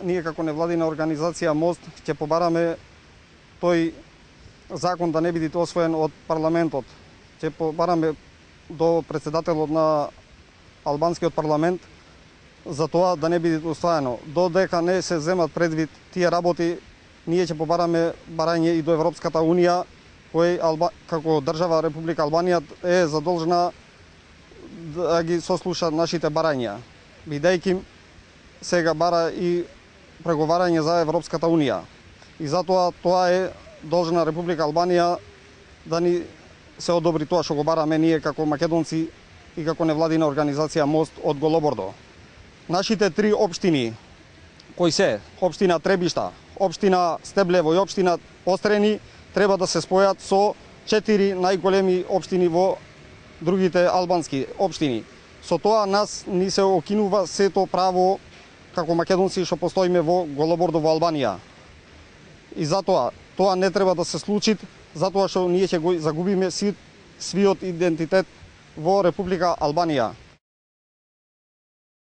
Ние како невладина организација Мост ќе побараме тој закон да не биде освоен од парламентот. Ќе побараме до председателот на албанскиот парламент за тоа да не биде усвоено. Додека не се земат предвид тие работи, ние ќе побараме барање и до Европската унија, кој како држава Република Албанија е задолжена да ги сослуша нашите барања, бидејќи сега бара и преговарање за Европската унија. И затоа тоа е должна Република Албанија да ни се одобри тоа што го бараме ние како македонци и како невладина организација Мост од Голобордо. Нашите три општини, кои се општина Требишта, општина Стеблево и општина Острени, треба да се спојат со 4 најголеми општини во другите албански општини. Со тоа нас ни се окинува сето право како македонци што постоиме во Голобордо во Албанија. И затоа тоа не треба да се случи, затоа што ние ќе го загубиме свиот идентитет во Република Албанија.